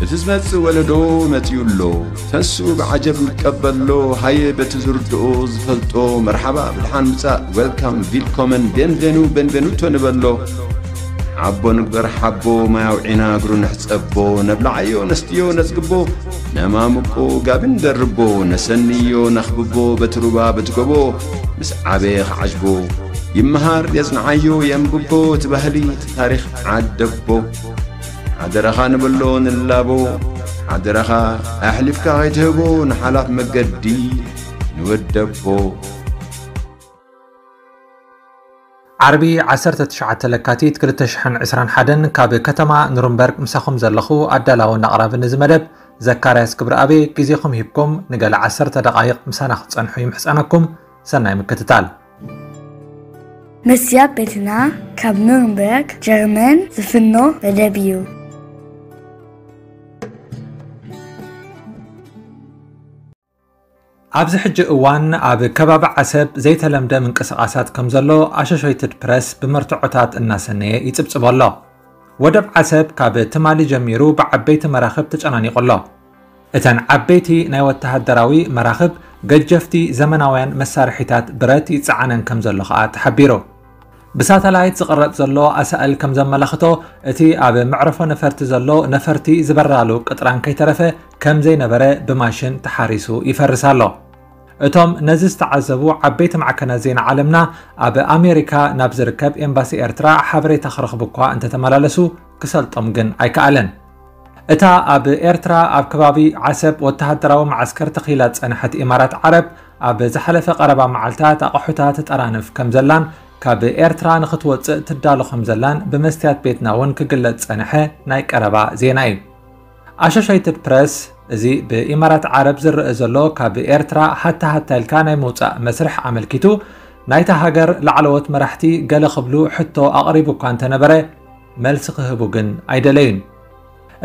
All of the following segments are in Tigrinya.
እቲ ዝመጽእ ወለዶ መጺኡ ኣሎ። ተንስኡ ብዓጀብ ንቀበሎ። ሃየ በቲ ዝርድኦ ዝፈልጦ መርሓባ ብድሓን ምጻእ፣ ዌልካም፣ ቪልኮመን፣ ቤንቬኑ፣ ቤንቬኑቶ ንበሎ። ሓቦ ንግበር ሓቦ፣ ማይ ኣውዒና እግሩ ንሕጸቦ። ነብልዓዮ ነስትዮ ነጽግቦ፣ ነማምቆ ጋቢ ንደርቦ። ነሰንዮ ነኽብቦ በቲ ሩባ በቲ ጎቦ። ምስ ዓበየ ክዓጅቦ ይመሃር የጽንዓዮ የንብቦ። እቲ ባህሊ እቲ ታሪኽ ዓደቦ። ሓደራኻ ንብሎ ንላቦ። ሓደራኻ ኣሕሊፍካ ከይትህቦ ንሓላፍ መገዲ ንወደቦ። ዓርቢ ዓሰርተ ትሽዓተ ለካቲት ክልተ ሽሕን ዕስራን ሓደን ካብ ከተማ ኑርንበርግ ምሳኹም ዘለኹ ኣዳላውን ኣቕራብን እዚ መደብ ዘካርያስ ክብረኣብ። ግዜኹም ሂብኩም ንገለ ዓሰርተ ደቓይቕ ምሳና ክትጸንሑ ይምሕጸነኩም። ሰናይ ምክትታል። መስያ ቤትና ካብ ኑርንበርግ ጀርመን ዝፍኖ መደብ እዩ። ኣብዚ ሕጂ እዋን ኣብ ከባቢ ዓሰብ ዘይተለምደ ምንቅስቓሳት ከም ዘሎ ኣሾሾይትድ ፕረስ ብመርትዖታት እናሰነየ ይጽብጽቦ ኣሎ። ወደብ ዓሰብ ካብ ትማሊ ጀሚሩ ብዓበይቲ መራኽብ ተጨናኒቑ ኣሎ። እተን ዓበይቲ ናይ ወተሃደራዊ መራኽብ ገጀፍቲ ዘመናውያን መሳርሒታት ብረት ይጸዓነን ከም ዘሎ ከኣ ተሓቢሩ። ብሳተላይት ዝቕረጽ ዘሎ ኣሳእል ከም ዘመላኽቶ፣ እቲ ኣብ መዕረፎ ነፈርቲ ዘሎ ነፈርቲ ዝበራሉ ቅጥራን ከይተረፈ ከም ዘይነበረ ብማሽን ተሓሪሱ ይፈርስ ኣሎ። እቶም ነዚ ዝተዓዘቡ ዓበይቲ ማዕከናት ዜና ዓለምና ኣብ ኣሜሪካ ናብ ዝርከብ ኤምባሲ ኤርትራ ሓበሬታ ክረኽቡ እኳ እንተተመላለሱ ክሰልጦም ግን ኣይከኣለን። እታ ኣብ ኤርትራ ኣብ ከባቢ ዓሰብ ወተሃደራዊ መዓስከር ተኺላ ዝጸንሐት ኢማራት ዓረብ ኣብ ዝሓለፈ ቀረባ መዓልታት ኣቕሑታ ትጠራንፍ ከም ዘላን ካብ ኤርትራ ንኽትወጽእ ትዳሎ ከም ዘላን ብመስትያት ቤትና እውን ክግለጽ ዝጸንሐ ናይ ቀረባ ዜና እዩ። ኣሾሾይትድ ፕረስ እዚ ብኢማራት ዓረብ ዝረአ ዘሎ ካብ ኤርትራ ሃታ ሃታ ኢልካ ናይ ምውጻእ መስርሕ ኣመልኪቱ ናይታ ሃገር ላዕለዎት መራሕቲ ገለ ክብሉ ሕቶ ኣቕሪቡ እኳ እንተነበረ መልሲ ክህቡ ግን ኣይደለዩን።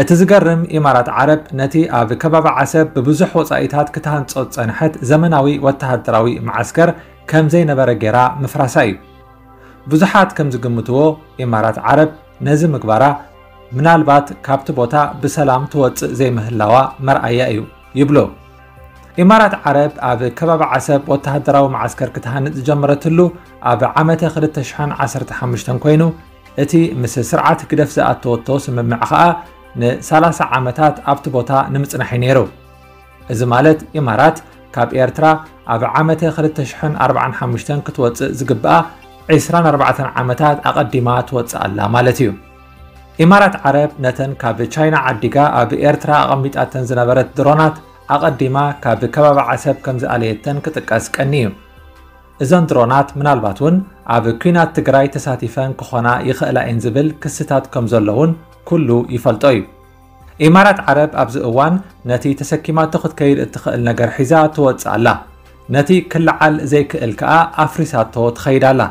እቲ ዝገርም ኢማራት ዓረብ ነቲ ኣብ ከባቢ ዓሰብ ብብዙሕ ወጻኢታት ክትሃንጾ ዝጸንሐት ዘመናዊ ወተሃደራዊ መዓስከር ከም ዘይነበረ ጌራ ምፍራሳ እዩ። ብዙሓት ከም ዝግምትዎ ኢማራት ዓረብ ነዚ ምግባራ ምናልባት ካብቲ ቦታ ብሰላም ትወጽእ ዘይምህላዋ መርኣያ እዩ ይብሉ። ኢማራት ዓረብ ኣብ ከባቢ ዓሰብ ወተሃደራዊ መዓስከር ክትሃንጽ ዝጀመረትሉ ኣብ ዓመተ ክልተ ሽሕን ዓሰርተ ሓሙሽተን ኮይኑ እቲ ምስ ስርዓት ህግደፍ ዝኣተወቶ ስምምዕ ኸኣ ንሰላሳ ዓመታት ኣብቲ ቦታ ንምጽናሕ እዩ ነይሩ። እዚ ማለት ኢማራት ካብ ኤርትራ ኣብ ዓመተ ክልተ ሽሕን ኣርባዓን ሓሙሽተን ክትወጽእ ዝግብኣ ዕስራን ኣርባዕተን ዓመታት ኣቐዲማ ትወጽእ ኣላ ማለት እዩ። ኢማራት ዓረብ ነተን ካብ ቻይና ዓዲጋ ኣብ ኤርትራ ኣቐሚጣተን ዝነበረት ድሮናት ኣቐዲማ ካብ ከባቢ ዓሰብ ከም ዝኣለየተን ክጥቀስ ቀኒ እዩ። እዘን ድሮናት ምናልባት እውን ኣብ ኲናት ትግራይ ተሳቲፈን ክኾና ይኽእላ እየን ዝብል ክስታት ከም ዘሎ እውን ኩሉ ይፈልጦ እዩ። ኢማራት ዓረብ ኣብዚ እዋን ነቲ ተሰኪማቶ ክትከይድ እትኽእል ነገር ሒዛ ትወጽእ ኣላ። ነቲ ክለዓል ዘይክእል ከኣ ኣፍሪሳቶ ትኸይድ ኣላ።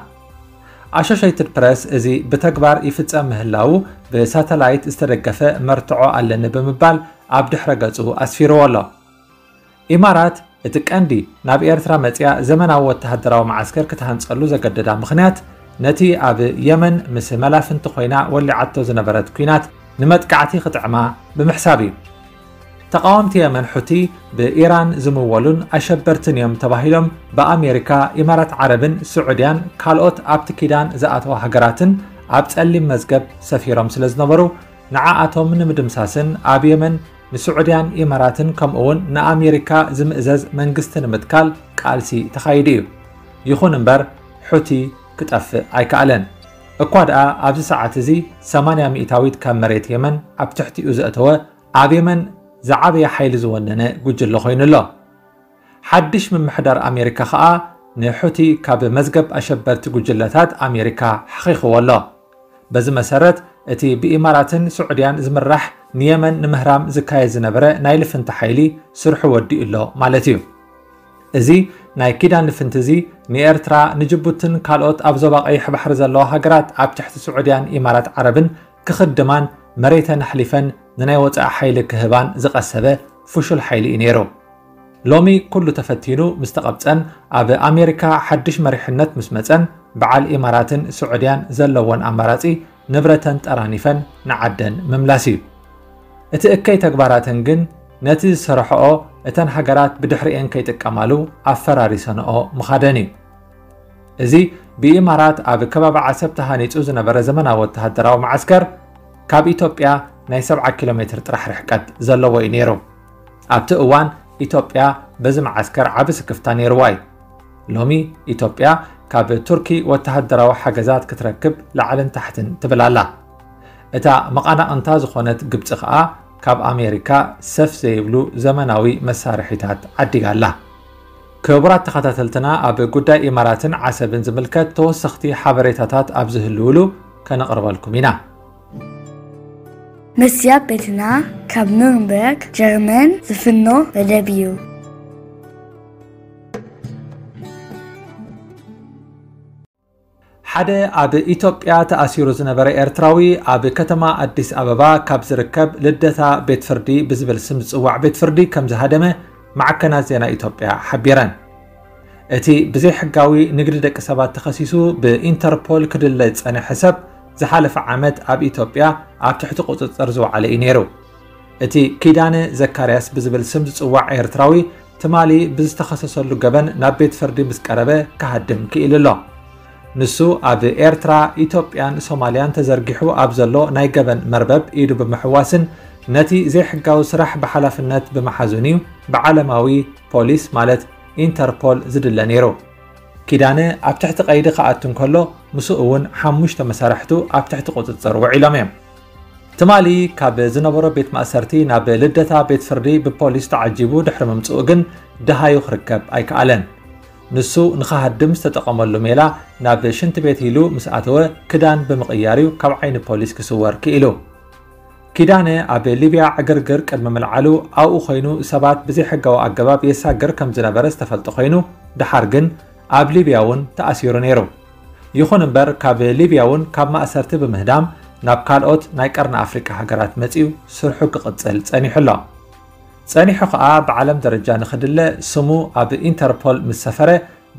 ኣሾሸይትድ ፕረስ እዚ ብተግባር ይፍጸም ምህላዉ ብሳተላይት ዝተደገፈ መርትዖ ኣለኒ ብምባል ኣብ ድሕረ ገጹ ኣስፊርዎ ኣሎ። ኢማራት እቲ ቀንዲ ናብ ኤርትራ መጺኣ ዘመናዊ ወተሃደራዊ መዓስከር ክትሃንጸሉ ዘገደዳ ምኽንያት ነቲ ኣብ የመን ምስ መላፍንቲ ኮይና ወሊዓቶ ዝነበረት ኲናት ንመጥቃዕቲ ክጥዕማ ብምሕሳብ እዩ። ተቓወምቲ የመን ሑቲ ብኢራን ዝምወሉን ኣሸበርትን እዮም ተባሂሎም ብኣሜሪካ፣ ኢማራት ዓረብን ስዑድያን ካልኦት ኣብቲ ኪዳን ዝኣተዋ ሃገራትን ኣብ ጸሊም መዝገብ ሰፊሮም ስለ ዝነበሩ ንዓኣቶም ንምድምሳስን ኣብ የመን ንስዑድያን ኢማራትን ከምኡውን ንኣሜሪካ ዝምእዘዝ መንግስቲ ንምትካል ቃልሲ ተኻይዱ እዩ። ይኹን እምበር ሑቲ ክጠፍእ ኣይከኣለን። እኳ ደኣ ኣብዚ ሰዓት እዚ ሰማንያ ሚእታዊት ካብ መሬት የመን ኣብ ትሕቲኡ ዘእተወ ኣብ የመን ዝዓበየ ሓይሊ ዝወነነ ጉጅለ ኮይኑ ኣሎ። ሓድሽ ምምሕዳር ኣሜሪካ ኸኣ ንሑቲ ካብ መዝገብ ኣሸበርቲ ጉጅለታት ኣሜሪካ ሓኺኽዎ ኣሎ። በዚ መሰረት እቲ ብኢማራትን ስዑድያን ዝምራሕ ንየመን ንምህራም ዝካየድ ዝነበረ ናይ ልፍንቲ ሓይሊ ስርሑ ወዲኡ ኣሎ ማለት እዩ። እዚ ናይ ኪዳን ልፍንቲ እዚ ንኤርትራ፣ ንጅቡትን ካልኦት ኣብ ዞባ ቀይሕ ባሕሪ ዘለዋ ሃገራት ኣብ ትሕቲ ስዑድያን ኢማራት ዓረብን ክኽድማን መሬተን ኣሕሊፈን ንናይ ወጻኢ ሓይሊ ክህባን ዝቐሰበ ፍሹል ሓይሊ እዩ ነይሩ። ሎሚ ኩሉ ተፈቲኑ ምስ ተቐብጸን ኣብ ኣሜሪካ ሓድሽ መሪሕነት ምስ መጸን በዓል ኢማራትን ስዑድያን ዘለወን ኣማራጺ ንብረተን ጠራኒፈን ንዓደን ምምላስ እዩ። እቲ እከይ ተግባራተን ግን ነቲ ዝሰርሐኦ እተን ሃገራት ብድሕሪኤን ከይጥቀማሉ ኣፈራሪሰንኦ ምኻደን እዩ። እዚ ብኢማራት ኣብ ከባቢ ዓሰብ ተሃኒጹ ዝነበረ ዘመናዊ ወተሃደራዊ መዓስከር ካብ ኢትዮጵያ ናይ ሰብዓ ኪሎ ሜትር ጥራሕ ርሕቀት ዘለዎ እዩ ነይሩ። ኣብቲ እዋን ኢትዮጵያ በዚ መዓስከር ዓቢ ስክፍታ ነይርዋ እዩ። ሎሚ ኢትዮጵያ ካብ ቱርኪ ወተሃደራዊ ሓገዛት ክትረክብ ላዕልን ታሕትን ትብል ኣላ። እታ መቓናቕንታ ዝኾነት ግብጺ ከኣ ካብ ኣሜሪካ ሰፍ ዘይብሉ ዘመናዊ መሳርሒታት ዓዲጋ ኣላ። ክቡራት ተኸታተልትና፣ ኣብ ጉዳይ ኢማራትን ዓሰብን ዝምልከት ተወሰኽቲ ሓበሬታታት ኣብ ዝህልውሉ ከነቕርበልኩም ኢና። መስትያት ቤትና ካብ ኑርንበርግ ጀርመን ዝፍኖ መደብ እዩ። ሓደ ኣብ ኢትዮጵያ ተኣሲሩ ዝነበረ ኤርትራዊ ኣብ ከተማ ኣዲስ ኣበባ ካብ ዝርከብ ልደታ ቤት ፍርዲ ብዝብል ስም ዝጽዋዕ ቤት ፍርዲ ከም ዝሃደመ ማዕከናት ዜና ኢትዮጵያ ሓቢረን። እቲ ብዘይሕጋዊ ንግዲ ደቂ ሰባት ተኸሲሱ ብኢንተርፖል ክድለ ዝጸንሐ ሰብ ዝሓለፈ ዓመት ኣብ ኢትዮጵያ ኣብ ትሕቲ ቁጽጽር ዝወዓለ እዩ ነይሩ። እቲ ኪዳነ ዘካርያስ ብዝብል ስም ዝጽዋዕ ኤርትራዊ ትማሊ ብዝተኸሰሰሉ ገበን ናብ ቤት ፍርዲ ምስ ቀረበ ክሃድም ክኢሉ ኣሎ። ንሱ ኣብ ኤርትራ፣ ኢትዮጵያን ሶማልያን ተዘርጊሑ ኣብ ዘሎ ናይ ገበን መርበብ ኢዱ ብምሕዋስን ነቲ ዘይሕጋዊ ስራሕ ብሓላፍነት ብምሓዙን እዩ ብዓለማዊ ፖሊስ ማለት ኢንተርፖል ዝድለ ነይሩ። ኪዳነ ኣብ ትሕቲ ቀይዲ ክኣቱ እንከሎ ምስኡ እውን ሓሙሽተ መሳርሕቱ ኣብ ትሕቲ ቁጽጽር ውዒሎም እዮም። ትማሊ ካብ ዝነበሮ ቤት ማእሰርቲ ናብ ልደታ ቤት ፍርዲ ብፖሊስ ተዓጂቡ ድሕሪ ምምጽኡ ግን ደሃዩ ክርከብ ኣይከኣለን። ንሱ ንኽሃድም ዝተጠቐመሉ ሜላ ናብ ሽንቲ ቤት ኢሉ ምስ ኣተወ ክዳን ብምቕያር እዩ ካብ ዓይኒ ፖሊስ ክስወር ክኢሉ። ኪዳነ ኣብ ሊብያ ዕግርግር ቅድሚ ምልዓሉ ኣብኡ ኮይኑ ሰባት ብዘይሕጋዊ ኣገባብ የሳግር ከም ዝነበረ ዝተፈልጠ ኮይኑ ድሓር ግን ኣብ ሊብያ እውን ተኣሲሩ ነይሩ። ይኹን እምበር ካብ ሊብያ እውን ካብ ማእሰርቲ ብምህዳም ናብ ካልኦት ናይ ቀርኒ ኣፍሪቃ ሃገራት መጺኡ ስርሑ ክቕጽል ጸኒሑ ኣሎ። ጸኒሑ ከኣ ብዓለም ደረጃ ንኽድለ ስሙ ኣብ ኢንተርፖል ምስ ሰፈረ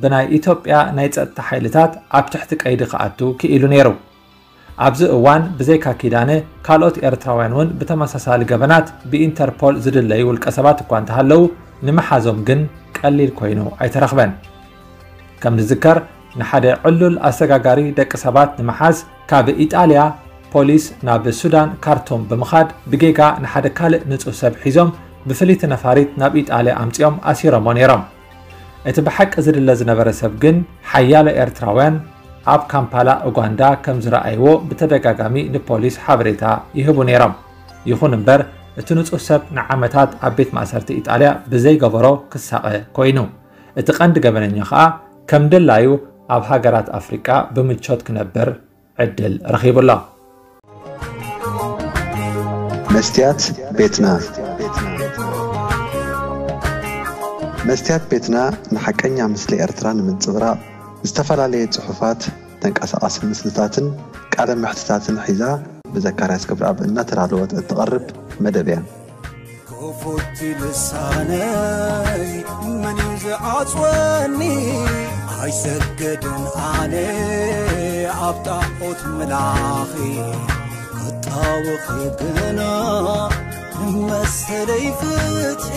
ብናይ ኢትዮጵያ ናይ ጸጥታ ሓይልታት ኣብ ትሕቲ ቀይዲ ክኣቱ ክኢሉ ነይሩ። ኣብዚ እዋን ብዘይካ ኪዳነ ካልኦት ኤርትራውያን እውን ብተመሳሳሊ ገበናት ብኢንተርፖል ዝድለዩ ውልቀ ሰባት እኳ እንተሃለዉ ንምሓዞም ግን ቀሊል ኮይኑ ኣይተረኽበን። ከም ዝዝከር ንሓደ ዕሉል ኣሰጋጋሪ ደቂ ሰባት ንምሓዝ ካብ ኢጣልያ ፖሊስ ናብ ሱዳን ካርቱም ብምኻድ ብጌጋ ንሓደ ካልእ ንጹህ ሰብ ሒዞም ብፍልይቲ ነፋሪት ናብ ኢጣልያ ኣምጺኦም ኣሲሮሞ ነይሮም። እቲ ብሓቂ ዝድለ ዝነበረ ሰብ ግን ሓያሎ ኤርትራውያን ኣብ ካምፓላ ኡጋንዳ ከም ዝረኣይዎ ብተደጋጋሚ ንፖሊስ ሓበሬታ ይህቡ ነይሮም። ይኹን እምበር እቲ ንጹህ ሰብ ንዓመታት ኣብ ቤት ማእሰርቲ ኢጣልያ ብዘይገበሮ ክሳቐ ኮይኑ። እቲ ቀንዲ ገበነኛ ኸኣ ከም ድላዩ ኣብ ሃገራት ኣፍሪቃ ብምቾት ክነብር ዕድል ረኺቡ ኣሎ። መስትያት ቤትና መስትያት ቤትና ንሓቀኛ ምስሊ ኤርትራ ንምንጽብራቕ ዝተፈላለየ ጽሑፋት፣ ተንቀሳቓሲ ምስልታትን ቃለ መሕትታትን ሒዛ ብዘካርያስ ገብረኣብ እናተዳለወት እትቐርብ መደብ እያ። ክፉት ልሳነይ መን እዩ ዝዓጽወኒ? ኣይሰገድን ኣነ ኣብ ጣዖት ምላኺ ክጣወኺ ግና መሰለይ ፍትሒ።